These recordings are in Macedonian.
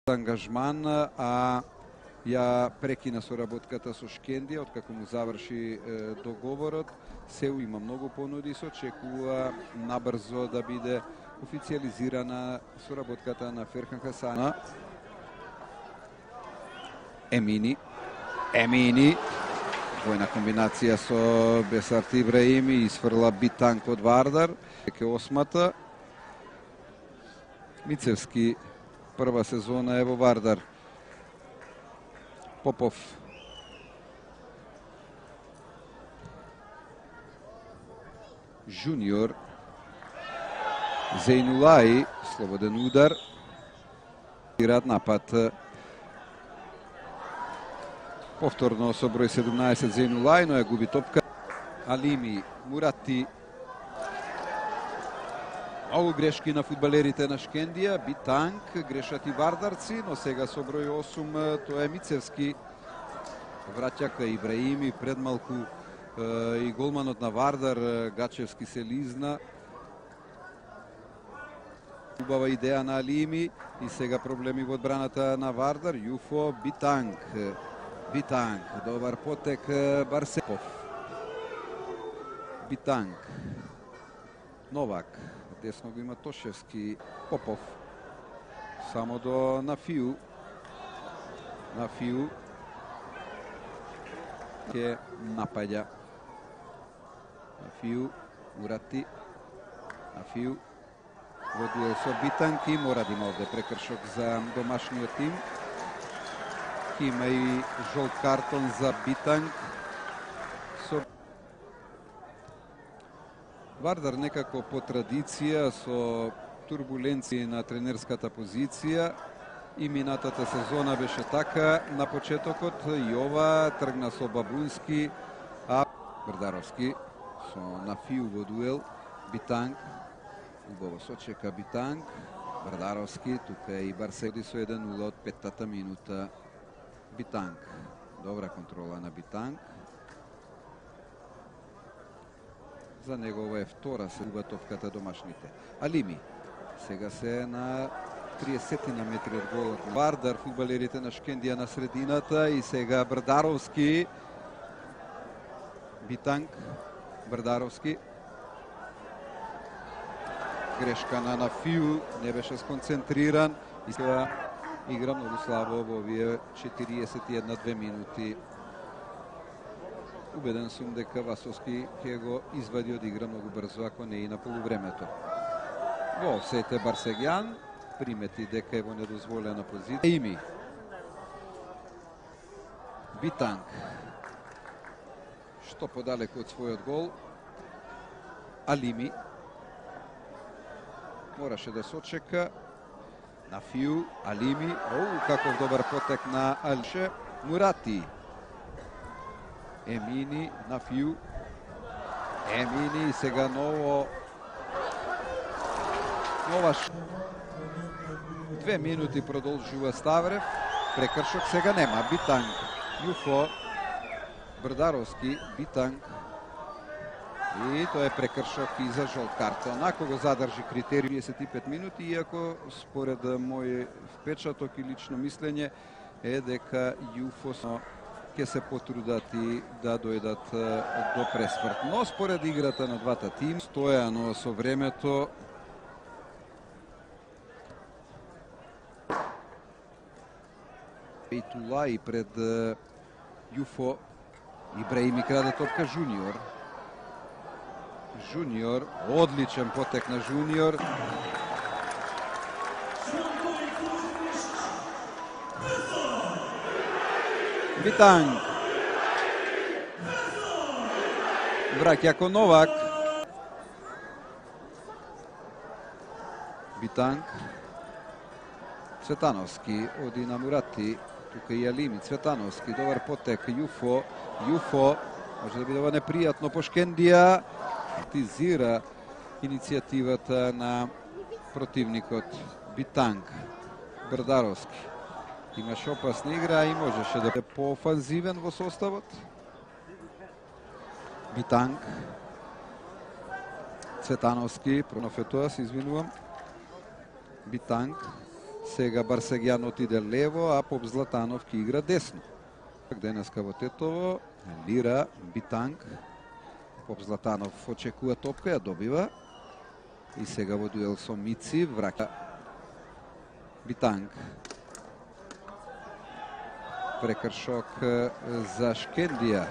ангажман, а ја прекина соработката со Шкендија откако му заврши договорот. Се има многу понуди, се очекува набрзо да биде официализирана соработката на Ферхан Хасана. Емини, двојна комбинација со Бесарт Ибраими, изфрла Битанг од Вардар. Ке осмата. Мицевски прва сезона е во Вардар. Попов. Жуниор. Зейнулаи, слободен удар. Ирад напад. Повторно со број 17 Зейнулаи, но ја губи топка. Алими, Мурати. Многу грешки на фудбалерите на Шкендија. Битанг, грешат и вардарци, но сега со број 8 тоа е Мицевски. Враќа кај Ибраими, пред малку и голманот на Вардар, Гачевски се лизна. Убава идеја на Алими и сега проблеми во одбраната на Вардар. Јуфо, Битанг, добар потек Барсепов. Битанг, Новак, десно го има Тошевски, Попов, само до Нафију. Нафију ќе напаѓа. Нафију, Мурати, Нафију, води со Битанг и мора да има овде прекршок за домашниот тим. Има и жолт картон за Битанг. Вардар некако по традиција со турбуленции на тренерската позиција и минатата сезона беше така на почетокот и ова тргна со Бабунски, а Брдаровски со Нафију во дуел. Битанг, убаво сочека Битанг, Брдаровски, тука и Барседи со 1-0 од 5-та минута. Битанг, добра контрола на Битанг. За него ова е втора се губа топката домашните. Алими, сега се на 30 на метри од голот. Вардар, фудбалерите на Шкендија на средината и сега Брдаровски. Битанг, Брдаровски. Грешка на Нафију, не беше сконцентриран и сега игра многу слабо во овие 41-2 минути. Убеден сум дека Васовски ќе го извади од игра многу брзо, ако не и на полувремето. Во офсет Барсегјан, примети дека е во недозволена позиција. Ими. Битанг. Што подалеку од својот гол. Алими. Мораше да сочека. Нафију, Алими. Каков добар потек на Алше. Мурати. Емини, Нафију. Емини, сега нова 2 минути продолжува Ставрев. Прекршок сега нема. Битанг, Јуфо, Брдаровски, Битанг. И тоа е прекршок и за жолт картон. Ако го задржи критериум 35 минути, иако според мој впечаток и лично мислење е дека Јуфо ќе се потрудат и да дојдат до пресврт. Но според играта на двата тим, стојано со времето, Бейтула и пред Јуфо. Ибраими краде топка Жуниор. Жуниор, одличен потек на Жуниор. Битанг. Враќа кон Новак. Битанг. Цветановски оди на Мурати. Тука и Алими. Цветановски, добар потек. Јуфо. Може да биде ова непријатно по Шкендија. Критизира иницијативата на противникот. Битанг. Брдаровски. Имаше опасна игра и можеше да е поофанзивен во составот. Битанг. Цветановски, Пронофетоа, се извинувам. Битанг. Сега Барсегјан отиде лево, а Поп Златанов ки игра десно. Денеска во Тетово, Лира, Битанг. Поп Златанов очекува топка, ја добива. И сега во дуел со Мици, враќа Битанг. Прекршок за Шкендија.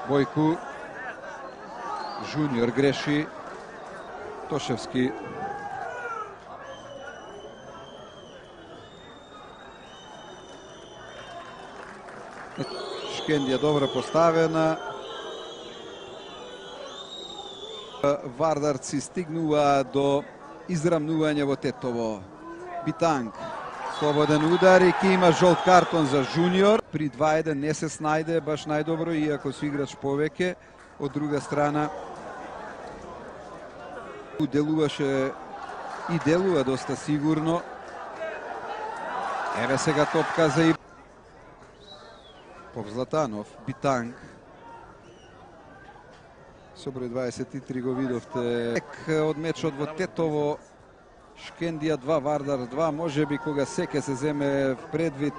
Бојку Жуниор греши. Тошевски. Шкендија добро поставена. Вардарци стигнуваат до израмнување во Тетово. Битанг. Слободен удар и ки има жолт картон за Жуниор. При 2-1 не се снајде баш најдобро, иако со играч повеќе. Од друга страна, делуваше и делува доста сигурно. Еве сега топка за Поп Златанов, Битанг. Со број 23 го видовте. Од мечот во Тетово, Шкендија 2, Вардар 2, може би кога секе се земе предвид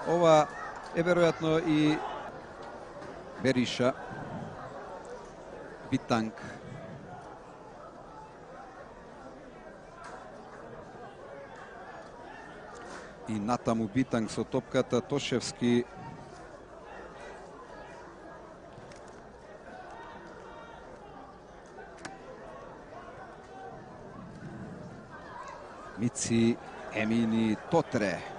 ова е веројатно и Бериша. Битанг. И натаму Битанг со топката. Тошевски. Мици, Емини, Тотре.